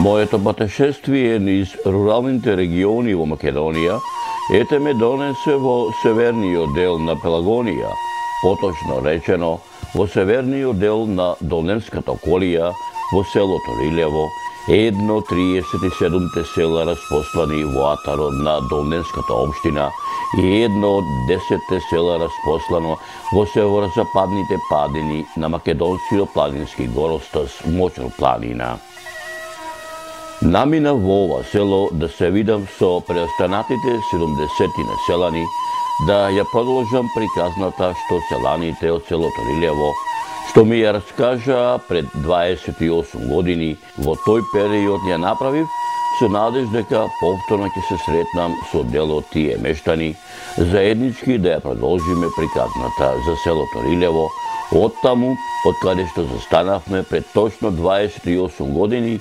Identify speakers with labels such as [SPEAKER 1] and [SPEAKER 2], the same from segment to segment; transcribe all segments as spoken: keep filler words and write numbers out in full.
[SPEAKER 1] Моето патешествие низ руралните региони во Македонија ете ме донесе во северниот дел на Пелагонија, поточно речено во северниот дел на Долневската околија, во селото Рилево, едно од триесет и седумте села распослани во атарот на Долневската општина и едно од десетте села распослано во северозападните падини на македонскиот планински горостас Мочор планина. Намина во ова село да се видам со преостанатите седумдесет населани, да ја продолжам приказната што селаните од селото Рилево, што ми ја раскажа пред дваесет и осум години, во тој период ја направив, со надеж дека повторно ќе се сретнам со дел од тие мештани, заеднички да ја продолжиме приказната за селото Рилево, оттаму, од каде што застанавме пред точно дваесет и осум години,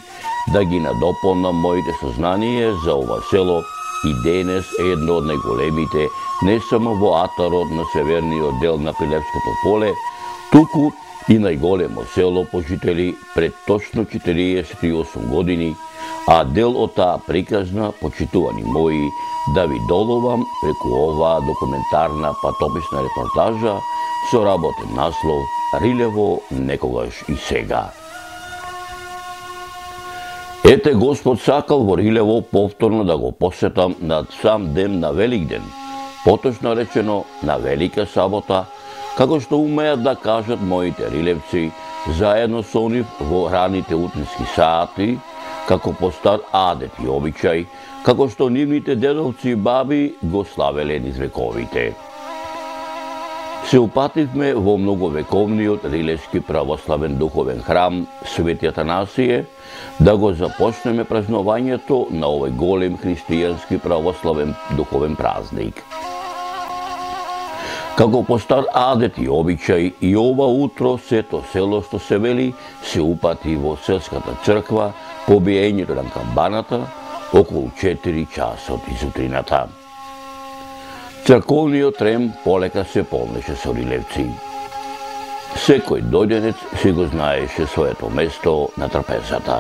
[SPEAKER 1] да ги надополнам моите сознание за ова село и денес е едно од најголемите, не само во атарот на северниот дел на Пилевското поле, туку и најголемо село по жители пред точно четириесет и осум години, а дел од таа приказна, почитувани мои, да ви доловам преку оваа документарна патописна репортажа со работен наслов Рилево некогаш и сега. Ете Господ сакал во Рилево повторно да го посетам над сам ден на Великден, поточно речено на Велика сабота, како што умеат да кажат моите рилевци, заедно со нив во раните утрински сати, како по стар адет и обичај, како што нивните дедовци и баби го славеле низ вековите. Се упативме во многовековниот рилевски православен духовен храм Свети Атанасие, да го започнеме празнувањето на овој голем христијански православен духовен празник. Како по стар адет и обичај, и ова утро сето село што се вели се упати во селската црква по биењето на камбаната околу четири часот изутрината. Црковниот трем полека се полнеше со рилевци. Секој дојденец си го знаеше своето место на трапезата.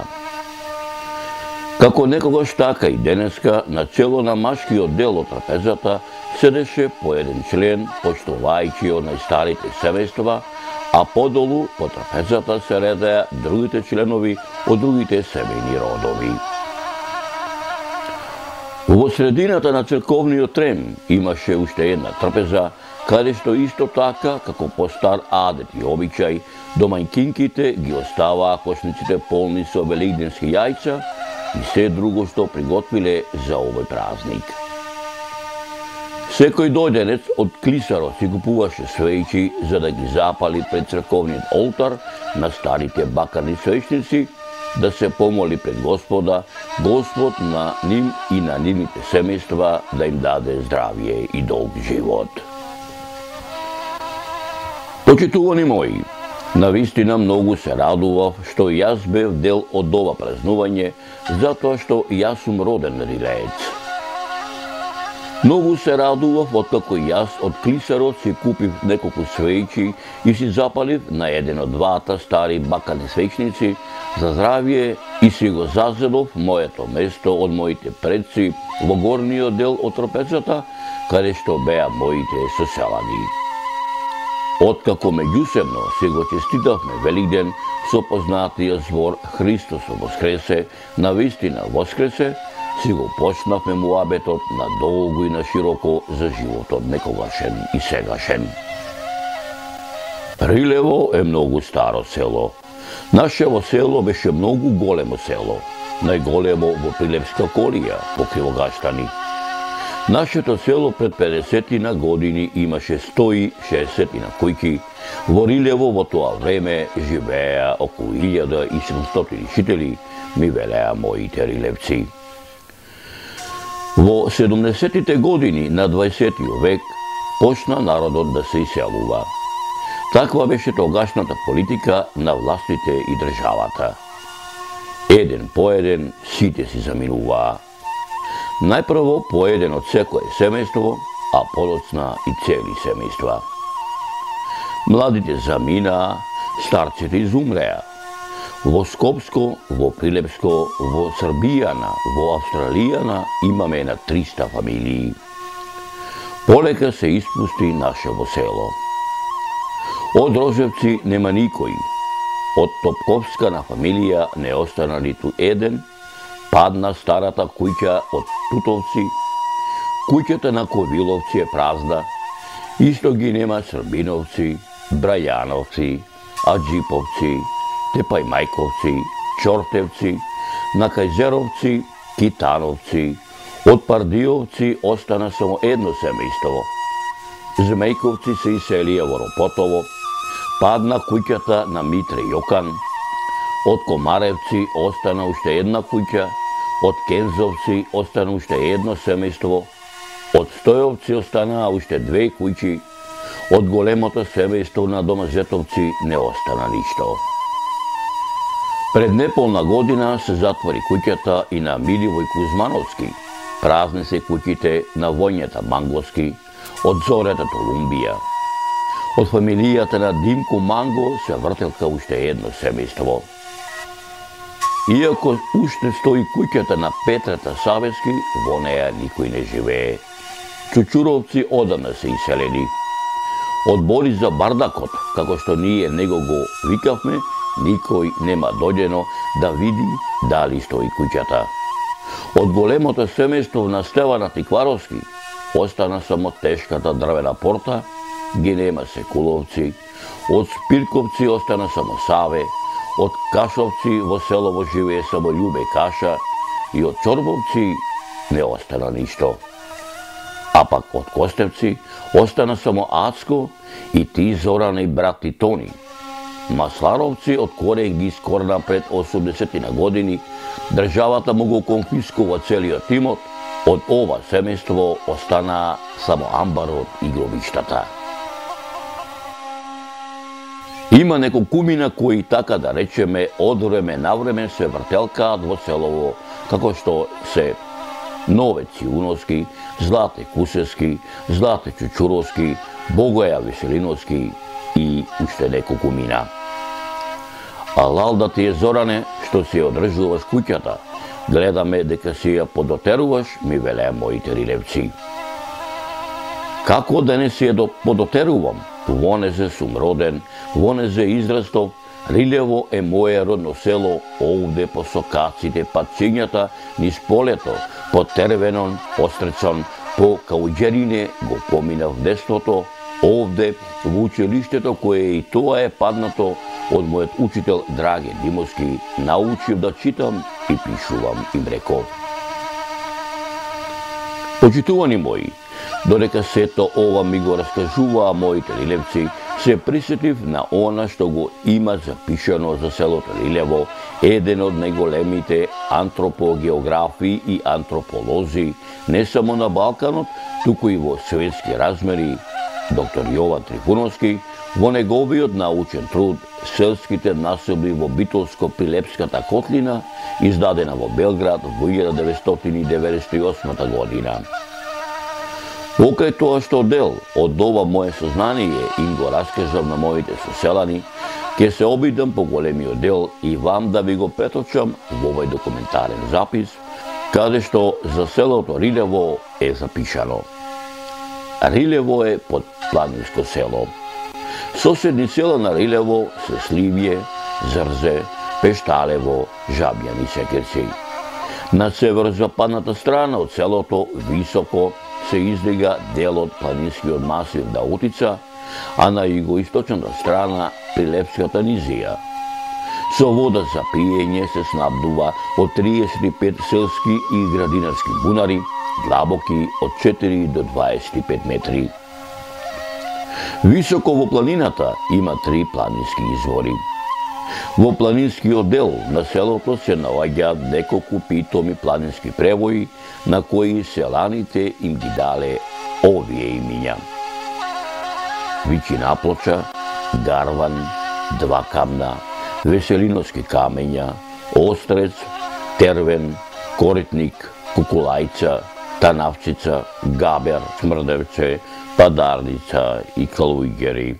[SPEAKER 1] Како некогаш така и денеска, на чело на машкиот дел од трапезата седеше по еден член, почитувајќи од најстарите семејства, а подолу по трапезата се редеа другите членови од другите семејни родови. Во средината на црковниот трем имаше уште една трапеза, каде што исто така, како по стар адет и обичај, домајкинките ги оставаа кошниците полни со великденски јајца и се друго што приготвиле за овој празник. Секој дојденец од клисарот си купуваше свејчи за да ги запали пред црковниот олтар на старите бакарни свеќници, да се помоли пред Господа, Господ на ним и на нивните семејства да им даде здравје и долг живот. Почитувани мои, навистина многу се радував што јас бев дел од ова празнување, затоа што јас сум роден рилеец. Многу се радував откако јас од клисарот си купив неколку свејчи и си запалив на еден од двата стари бакарни свеќници за здравје и си го зазедов моето место од моите предци во горниот дел од трапезата, каде што беа моите соселани. Откако меѓусебно си го честитавме Великден со познатиот збор Христос воскресе, навистина воскресе, си го почнавме муабетот на долго и на широко за животот некогашен и сегашен. Рилево е многу старо село. Нашево село беше многу големо село, најголемо во Пилевска околија, по Кривогаштани. Нашето село пред педесетина години имаше сто и шеесетина куќи. Во Рилево во тоа време живееа околу илјада и седумстотини жители, ми велеа моите рилевци. Во седумдесетите години на дваесеттиот век почна народот да се иселува. Таква беше тогашната политика на властите и државата. Еден по еден сите си заминуваа. Најпрво по еден од секое семејство, а подоцна и цели семејства. Младите заминаа, старците изумреа. Во Скопско, во Прилепско, во Србијана, во Австралијана имаме на триста фамилии. Полека се испусти нашево село. Од Рожевци нема никој. Од Топковска на фамилија не остана ниту еден, падна старата куќа од Тутовци, куќата на Ковиловци е празна, исто ги нема Србиновци, Брајановци, Аджиповци, Тепајмајковци, Чортевци, на Кајзеровци, Китановци, од Пардиовци остана само едно семејство. Змејковци се иселија во Ропотово, падна куќата на Митре Јокан, од Комаревци остана уште една куќа, од Кензовци остана уште едно семејство, од Стојовци останаа уште две куќи, од големото семејство на Домазетовци не остана ништо. Пред неполна година се затвори куќата и на Миливој Кузмановски, празни се куќите на Воњета Манговски, од Зорета Толумбија. Од фамилијата на Димко Манго се вртелка уште едно семејство. Иако уште стои куќата на Петрата Савески, во неја никој не живее. Чучуровци одамна се иселени. Од Бориза Бардакот, како што ние него го викавме, никој нема дојдено да види дали стои куќата. Од големото семејство на Стевана Тикваровски остана само тешката дрвена порта, ги нема Секуловци, од Спирковци остана само Саве, од Кашовци во селово живее само Љубе Каша и од Чорбовци не остана ништо. А пак од Костевци остана само Ацко и ти Зорана и брат Тони. Масларовци од Кореј ги скорна пред осумдесетти на години, државата му го конфискува целиот имот, од ова семејство остана само амбарот и гробиштата. Има неколкумина кои, така да речеме, од време на време се вртелкаат во селово, како што се Нове Циуновски, Злате Кусевски, Злате Чучуровски, Богоја Веселиновски и уште неколкумина. А лалда ти е, Зоране, што си одржуваш куќата, гледаме дека си ја подотеруваш, ми велеа моите рилевци. Како да не си ја подотерувам? Вонезе сум роден, вонезе израстов, Рилево е моје родно село, овде по сокаците, патцињата, низ полето, по Тервенон, Острецон, по Кауџерине го поминав детството, овде во училиштето кое и тоа е паднато од мојот учител Драге Димовски, научив да читам и пишувам, им реков. Почитувани мои, додека сето ова ми го раскажуваа моите рилевци, се присетив на она што го има запишано за селото Рилево, еден од најголемите антропогеографи и антрополози, не само на Балканот, туку и во светски размери, доктор Јован Трифуновски, во неговиот научен труд "Селските населби во Битолско-Прилепската котлина", издадена во Белград во илјада деветстотини деветдесет и осма година. Покрај тоа што дел од ова моје сознание им го раскажав на моите соселани, ќе се обидам по големиот дел и вам да ви го преточам во овој документарен запис, каде што за селото Рилево е запишано. Рилево е подпланинско село. Соседни села на Рилево се Сливје, Зрзе, Пешталево, Жабјан и Секерци. На северозападната страна од селото високо се издига делот планинскиот масив Даутица, а на југоисточната страна Прилепската низија. Со вода за пиење се снабдува од триесет и пет селски и градинарски бунари, длабоки од четири до дваесет и пет метри. Високо во планината има три планински извори. Во планинскиот дел на селото се наоѓаат неколку питоми планински превои, на кои селаните им ги дале овие имиња: Вичина плоча, Гарван, Два камна, Веселиновски камења, Острец, Тервен, Коритник, Кукулајца, Танавчица, Габер, Смрдевце, Падарница и Калуѓери.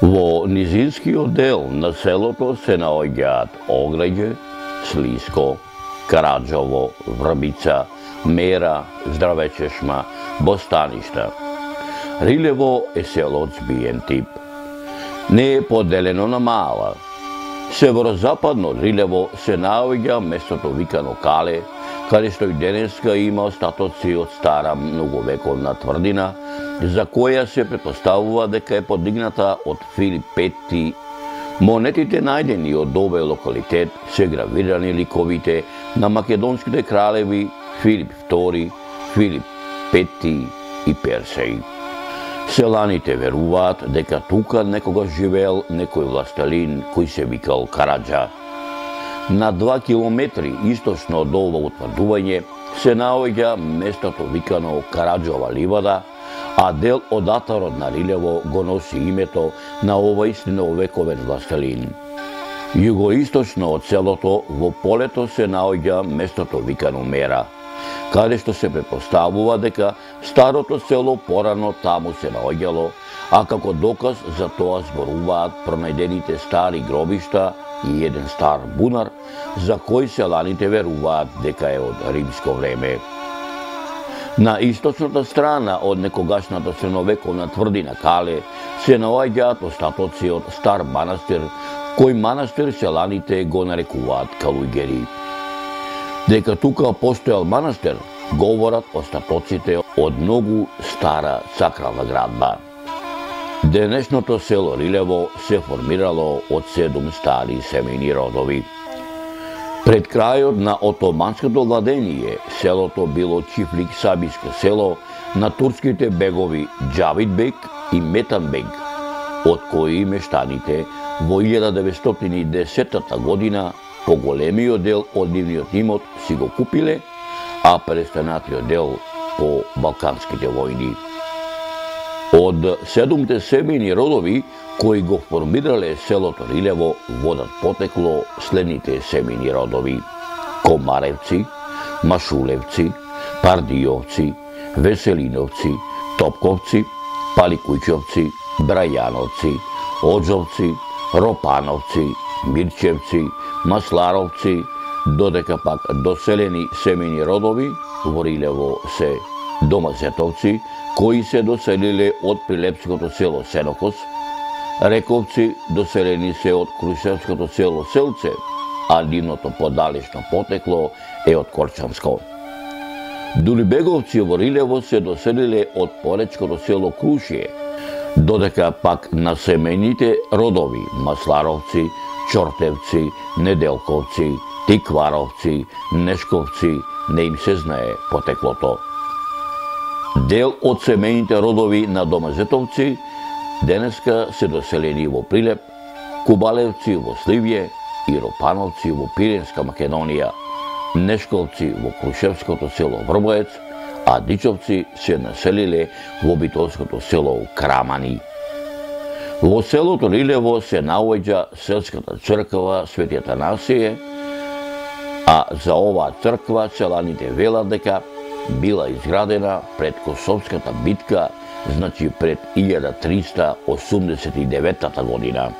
[SPEAKER 1] Во низинскиот дел на селото се наоѓаат Ограѓе, Слиско, Караџово, Врбица, Мера, Здравечешма, Бостаништа. Рилево е село од збиен тип. Не е поделено на мала. Северозападно од Рилево се наоѓа местото викано Кале, каде што и денеска има остатоци од стара многовековна тврдина, за која се претпоставува дека е подигната од Филип Пети. Монетите најдени од овој локалитет се гравирани ликовите на македонските кралеви Филип Втори, Филип Пети и Персеј. Селаните веруваат дека тука некогаш живеел некој властелин кој се викал Караџа. На два километри источно од ова утврдување се наоѓа местото викано Караџова ливада, а дел од атарот на Рилево го носи името на овој средновековен властелин. Југоисточно од селото во полето се наоѓа местото викано Мера, каде што се претпоставува дека старото село порано таму се наоѓало, а како доказ за тоа зборуваат пронајдените стари гробишта и еден стар бунар, за кој селаните веруваат дека е од римско време. На источната страна од некогашната средновековна тврдина Кале се наоѓаат остатоци од стар манастир, кој манастир селаните го нарекуваат Калуѓери. Дека тука постоел манастир, говорат остатоците од многу стара сакрална градба. Денешното село Рилево се формирало од седум стари семејни родови. Пред крајот на отоманското владење, селото било Чифлик Сабиско село на турските бегови Џавидбек и Метанбек, од кои мештаните во илјада деветстотини и десета година поголемиот дел од нивниот имот си го купиле, а престанатиот дел по Балканските војни. Од седумте семејни родови кои го формирале селото Рилево водат потекло следните семејни родови: Комаревци, Машулевци, Пардиовци, Веселиновци, Топковци, Паликујчовци, Брајановци, Оџовци, Ропановци, Мирчевци, Масларовци, додека пак доселени семејни родови во Рилево се Домазетовци, кои се доселиле од прилепското село Сенокос, Рековци доселени се од крушевското село Селце, а нивното подалечно потекло е од Корчанско. Дулибеговци во Рилево се доселиле од поречкото село Крушие, додека пак на семејните родови Масларовци, Чортевци, Неделковци, Тикваровци, Нешковци не им се знае потеклото. Дел од семејните родови на Домазетовци денеска се доселени во Прилеп, Кубалевци во Сливје и Ропановци во Пиренска Македонија, Нешковци во Крушевското село Врбоец, а Дичовци се населиле во битолското село Крамани. Во селото Рилево се наоѓа селската црква Свети Атанасије, а за оваа црква селаните велат дека била изградена пред Косовската битка, значи пред илјада триста осумдесет и девета година.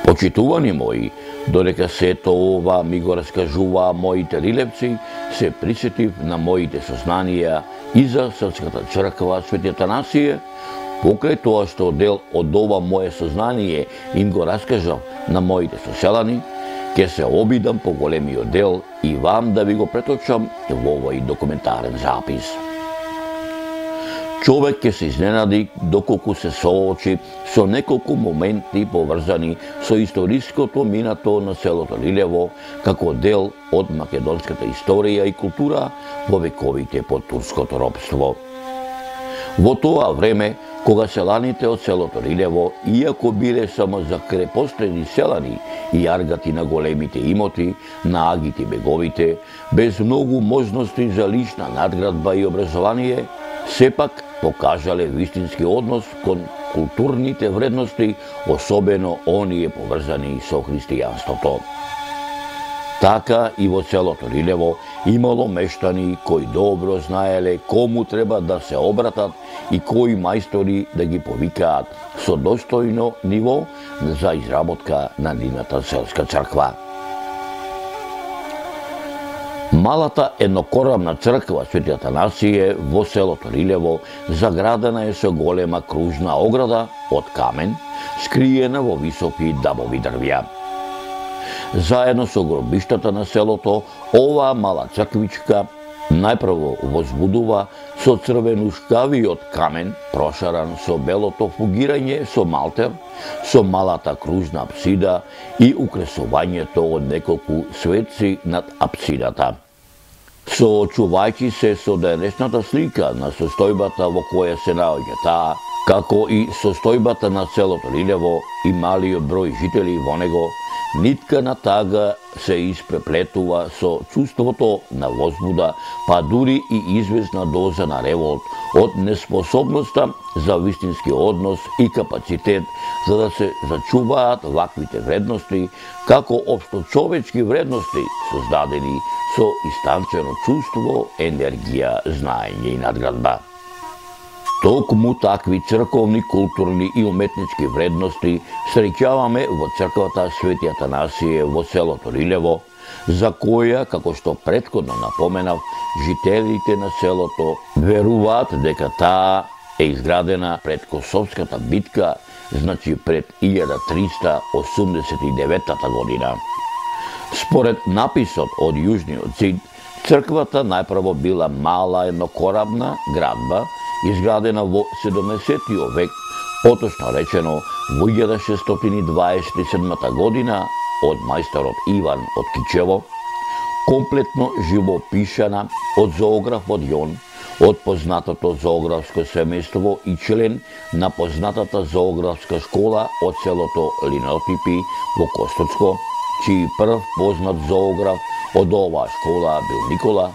[SPEAKER 1] Почитувани мои, додека сето ова ми го раскажуваа моите рилевци, се присетив на моите сознанија и за селската црква Свети Атанасије, покрај тоа што дел од ова мое сознание им го раскажав на моите соселани, ќе се обидам по големиот дел и вам да ви го преточам во овој документарен запис. Човек ќе се изненади доколку се соочи со неколку моменти поврзани со историското минато на селото Рилево како дел од македонската историја и култура во вековите под турското робство. Во тоа време, кога селаните од селото Рилево, иако биле само закрепостени селани и аргати на големите имоти, на агите беговите, без многу можности за лична надградба и образование, сепак покажале вистински однос кон културните вредности, особено оние поврзани со христијанството. Така и во селото Рилево имало мештани кои добро знаеле кому треба да се обратат и кои мајстори да ги повикаат со достојно ниво за изработка на нивната селска црква. Малата еднокорабна црква Свети Атанасије во селото Рилево заградена е со голема кружна ограда од камен, скриена во високи дабови дрвја. Заедно со гробиштата на селото, оваа мала црквичка најпрво возбудува со црвенушкавиот камен, прошаран со белото фугирање со малтер, со малата кружна апсида и украсувањето од неколку светци над апсидата. Соочувајќи се со денешната слика на состојбата во која се наоѓа таа, како и состојбата на селото Рилево и малиот број жители во него, нитка на тага се испреплетува со чувството на возбуда, па дури и известна доза на револт од неспособноста за вистински однос и капацитет за да се зачуваат ваквите вредности како општочовечки вредности создадени со истанчено чувство, енергија, знаење и надградба. Токму такви црковни, културни и уметнички вредности среќаваме во црквата Свети Атанасије во селото Рилево, за која, како што претходно напоменав, жителите на селото веруваат дека таа е изградена пред Косовската битка, значи пред илјада триста осумдесет и девета година. Според написот од Јужниот зид, црквата најпрво била мала еднокорабна градба, изградена во седумдесетиот век, поточно речено во илјада шестстотини дваесет и седма година од мајсторот Иван од Кичево, комплетно живопишана од зоографот Јон, од познатото зоографско семејство и член на познатата зоографска школа од селото Линотипи во Костоцко, чиј прв познат зоограф од оваа школа бил Никола,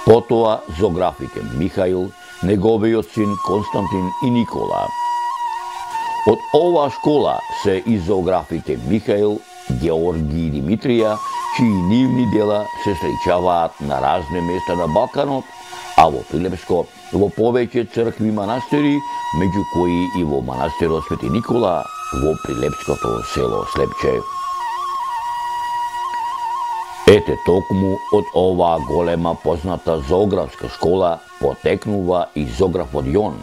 [SPEAKER 1] потоа зоографите Михаил, неговиот син Константин и Никола. Од оваа школа се и зоографите Михаил, Георги и Димитрија, чии нивни дела се среќаваат на разни места на Балканот, а во Прилепско во повеќе цркви и манастири, меѓу кои и во манастирот Свети Никола во Прилепското село Слепче. Ете токму од оваа голема позната зоографска школа потекнува и зоографот Јон,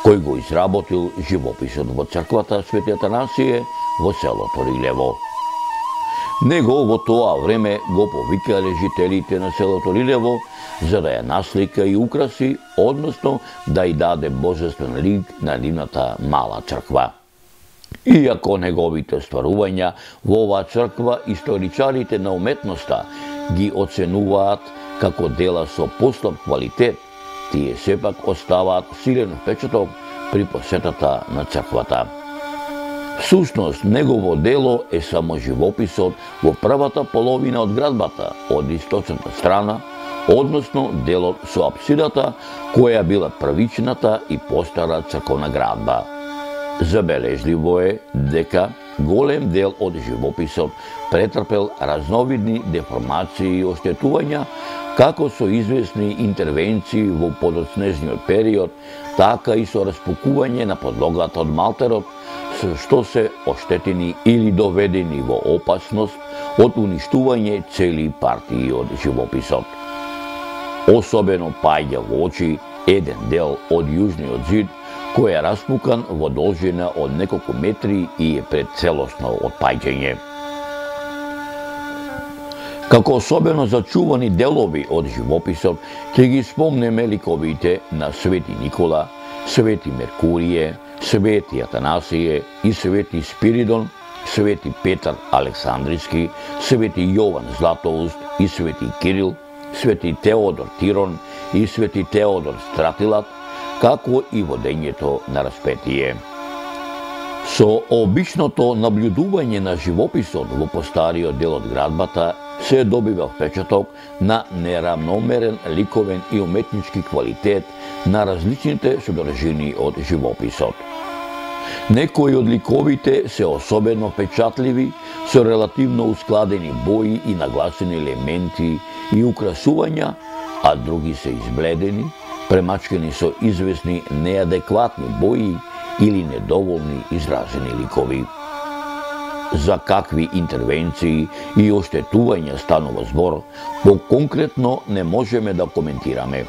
[SPEAKER 1] кој го изработил живописот во црквата Свети Атанасије во селото Рилево. Него во тоа време го повикале жителите на селото Рилево за да ја наслика и украси, односно да ја даде божествен лик на нивната мала црква. Иако неговите стварувања во оваа црква историчарите на уметноста ги оценуваат како дела со послаб квалитет, тие сепак оставаат силен впечаток при посетата на црквата. Всушност, негово дело е само живописот во првата половина од градбата, од источната страна, односно делот со апсидата, која била првичната и постара црковна градба. Забележливо е дека голем дел од живописот претрпел разновидни деформации и оштетувања, како со известни интервенции во подоцнежниот период, така и со распукување на подлогата од малтерот, со што се оштетени или доведени во опасност од уништување цели партии од живописот. Особено паѓа во очи еден дел од Јужниот зид, кој е распукан во должина од неколку метри и е пред целосно отпаѓање. Како особено зачувани делови од живописот, ќе ги спомнеме ликовите на Свети Никола, Свети Меркурије, Свети Атанасије и Свети Спиридон, Свети Петар Александриски, Свети Јован Златоуст и Свети Кирил, Свети Теодор Тирон и Свети Теодор Стратилат, како и водењето на распетие. Со обичното наблюдување на живописот во постариот дел од градбата се добива впечаток на неравномерен ликовен и уметнички квалитет на различните содржини од живописот. Некои од ликовите се особено впечатливи, со релативно ускладени бои и нагласени елементи и украсувања, а други се избледени, премачкани со известни неадекватни бои или недоволни изразени ликови. За какви интервенции и оштетувања станува збор, по-конкретно не можеме да коментираме.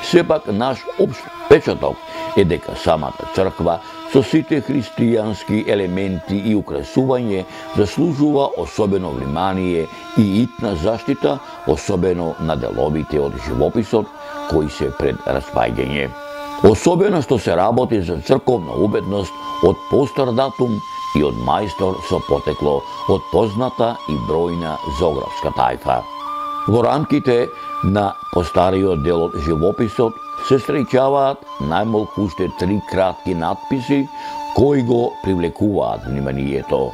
[SPEAKER 1] Сепак наш општ впечаток е дека самата црква со сите христијански елементи и украсување заслужува особено внимание и итна заштита, особено на деловите од живописот кои се пред распаѓање. Особено што се работи за црковна уметност од постар датум и од мајстор со потекло од позната и бројна зоографска тајфа. Во рамките на постариот дел од живописот се среќаваат најмалку уште три кратки надписи кои го привлекуваат вниманието.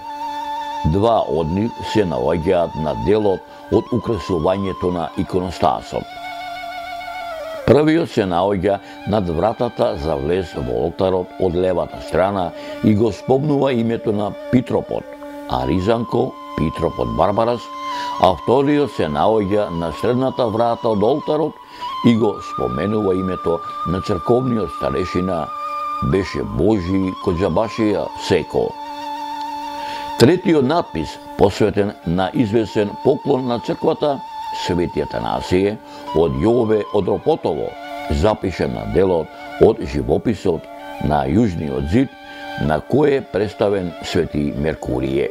[SPEAKER 1] Два од нив се наоѓаат на делот од украсувањето на иконостасот. Првиот се наоѓа над вратата за влез во олтарот од левата страна и го спомнува името на Питропот, а Ризанко Питропот Барбарас, а вториот се наоѓа на средната врата од олтарот и го споменува името на црковниот старешина беше Божи Коџабашија Секо. Третиот надпис, посветен на известен поклон на црквата, Свети Атанасије од Јове од Ропотово, запишен на делот од живописот на јужниот зид, на кој е представен Свети Меркурије.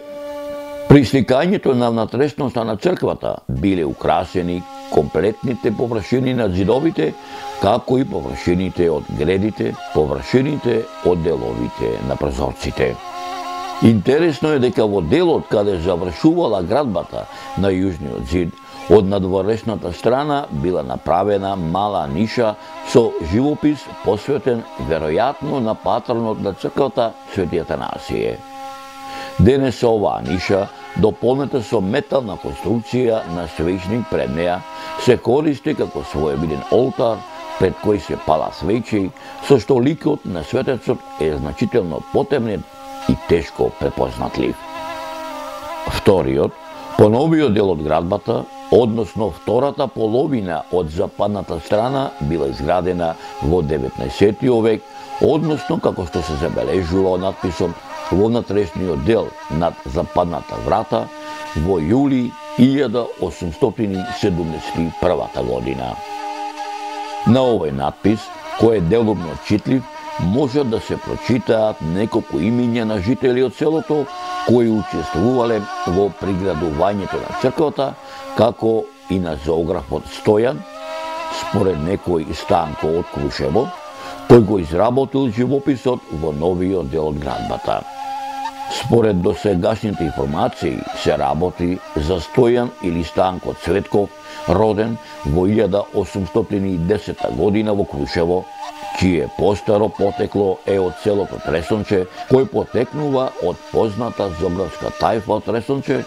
[SPEAKER 1] При сликањето на внатрешноста на црквата биле украсени комплетните површини на зидовите, како и површините од гредите, површините од деловите на прозорците. Интересно е дека во делот каде завршувала градбата на јужниот зид, од надворешната страна била направена мала ниша со живопис посветен веројатно на патронот на црквата Свети Атанасије. Денес оваа ниша, дополнета со метална конструкција на свечник пред неа, се користи како своевиден олтар пред кој се пала свечи, со што ликот на светецот е значително потемнет и тешко препознатлив. Вториот, поновиот дел од градбата, односно втората половина од западната страна, била изградена во деветнаесеттиот век, односно како што се забележува од надписот во внатрешниот дел над западната врата во јули илјада осумстотини седумдесет и прва година. На овој надпис, кој е делумно читлив, може да се прочитаат неколку имиња на жители од селото кои учествувале во приградувањето на црквата, како и на зоографот Стојан, според некој Станко од Крушево, кој го изработил живописот во новиот дел од градбата. Според досегашните информации се работи за Стојан или Станко Цветков, роден во илјада осумстотини и десета година во Крушево, чие постаро потекло е од селото Тресонче, кој потекнува од позната зоографска тајфа од Тресонче,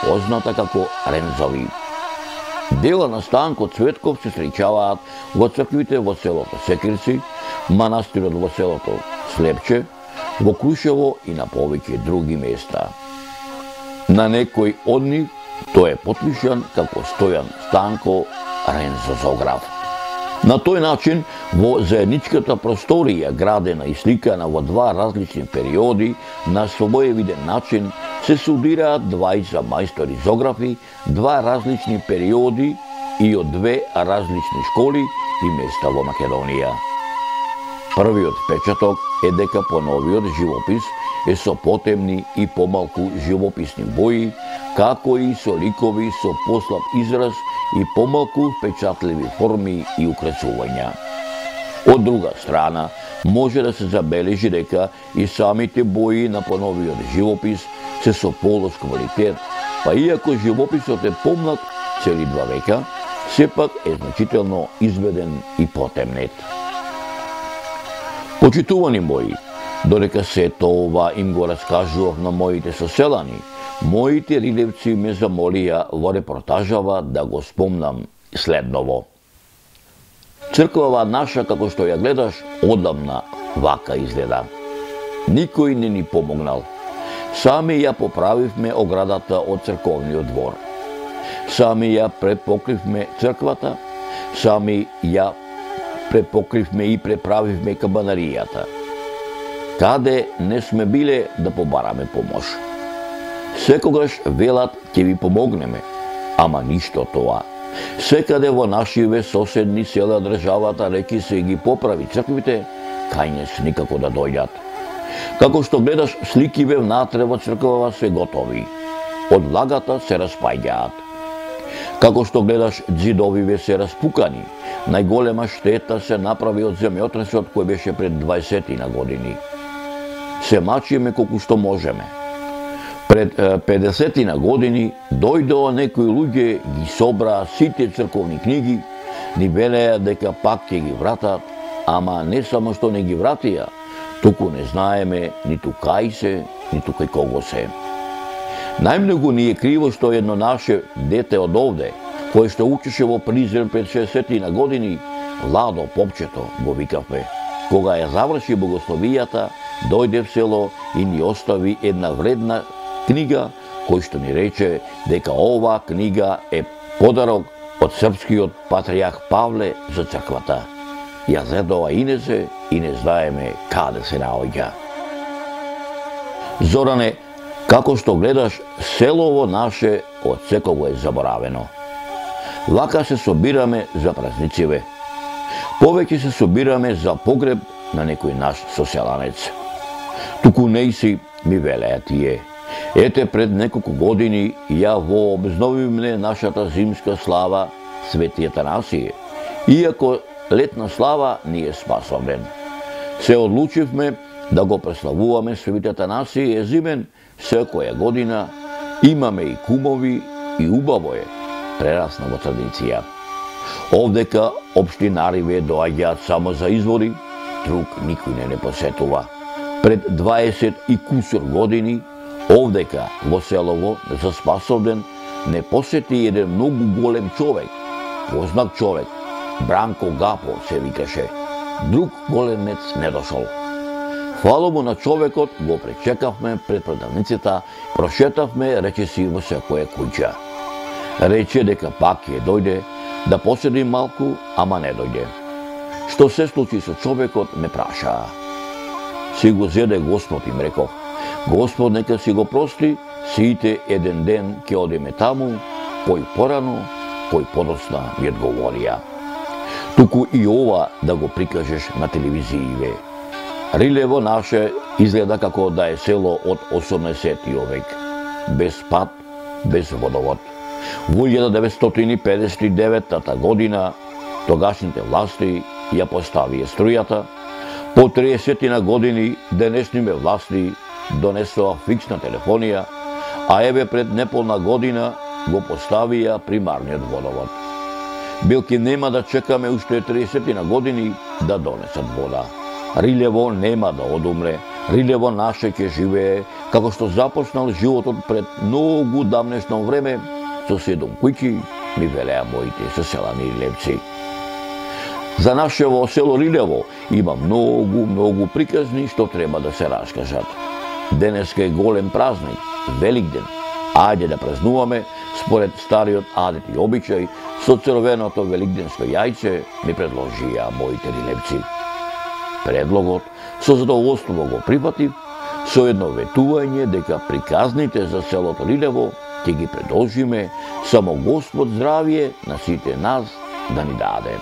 [SPEAKER 1] позната како Рензови. Дела на Станко Цветков се среќаваат во црквите во селото Секирци, манастирот во селото Слепче, во Крушево и на повеќе други места. На некој од нив тој е потпишан како Стојан Станко Рензо зоограф. На тој начин, во заедничката просторија, градена и сликана во два различни периоди, на своевиден начин се студираат двајца мајстори зоографи, два различни периоди и од две различни школи и места во Македонија. Првиот впечаток е дека поновиот живопис е со потемни и помалку живописни бои, како и со ликови со послаб израз и помалку впечатливи форми и украсувања. Од друга страна, може да се забележи дека и самите бои на поновиот живопис се со полош квалитет, па иако живописот е помлад цели два века, сепак е значително изведен и потемнет. Почитувани мои, додека сето ова им го раскажував на моите соселани, моите ридевци ме замолија во репортажава да го спомнам следново. Црквава наша, како што ја гледаш, одамна вака изгледа. Никој не ни помогнал. Сами ја поправивме оградата од црковниот двор. Сами ја препокривме црквата, сами ја препокривме и преправивме кабанаријата. Каде не сме биле да побараме помош. Секогаш велат ќе ви помогнеме, ама ништо тоа. Секаде во нашиве соседни села државата реки се ги поправи црквите, кај не с никако да дојдат. Како што гледаш сликиве внатре во црквава се готови. Од влагата се распаѓаат. Како што гледаш ѕидовиве се распукани. Најголема штета се направи од земјотресот кој беше пред дваесетина години. Се мачиме колку што можеме. Пред педесетина години дојдоа некои луѓе, ги собраа сите црковни книги, ни велеа дека пак ќе ги вратат, ама не само што не ги вратија, туку не знаеме ниту кај се, ниту кај кого се. Најмногу ни е криво што едно наше дете од овде, кое што учеше во Призрен пред шесетина години, Ладо Попчето го викавме. Кога ја заврши богословијата, дојде в село и ни остави една вредна книга, кој што ни рече дека ова книга е подарок од српскиот патријарх Павле за црквата. Ја зедова инесе и не знаеме каде се наоѓа. Зоране, како што гледаш, селово наше од секого е заборавено. Лака се собираме за празнициве. Повеќе се собираме за погреб на некој наш соселанец. Туку не си ми велеа тие. Ете пред неколку години ја во обзновивме нашата зимска слава Свети Атанасије. Иако летна слава ни е спасовен. Се одлучивме да го преславуваме Свети Атанасије зимен секоја година. Имаме и кумови и убаво е. Прерасна во традиција. Овдека општинариве доаѓаат само за избори, друг никој не не посетува. Пред дваесет и кусур години, овдека во селово за Спасовден не посети еден многу голем човек, познат човек, Бранко Гапо се викаше. Друг големец не дошол. Фала му на човекот, го пречекавме пред продавницата, прошетавме речиси во секоја куќа. Рече дека пак ќе дојде, да поседи малку, ама не дојде. Што се случи со човекот, ме прашаа. Си го зеде Господ, им реков. Господ нека си го прости, сите еден ден ќе одиме таму, кој порано, кој подоцна ми одговорија. Туку и ова да го прикажеш на телевизииве. Рилево наше изгледа како да е село од осумнаесеттиот век. Без пат, без водовод. Во илјада деветстотини педесет и девета година тогашните власти ја поставија струјата. По триесетина години денешните власти донесоа фиксна телефонија, а еве пред неполна година го поставија примарниот водовод. Билки нема да чекаме уште триесетина години да донесат вода. Рилево нема да одумре, Рилево наше ќе живее како што започнал животот пред многу давнешно време, со седум куќи, ми велеа моите соселани рилевци. За нашево село Рилево има многу, многу приказни што треба да се раскажат. Денеска е голем празник, Великден. Ајде да празнуваме според стариот адет и обичај, со црвеното великденско јајце, ми предложија моите рилевци. Предлогот со задоволство го прифатив, со едно ветување дека приказните за селото Рилево ќе ги продолжиме, само Господ здравие на сите нас да ни даде.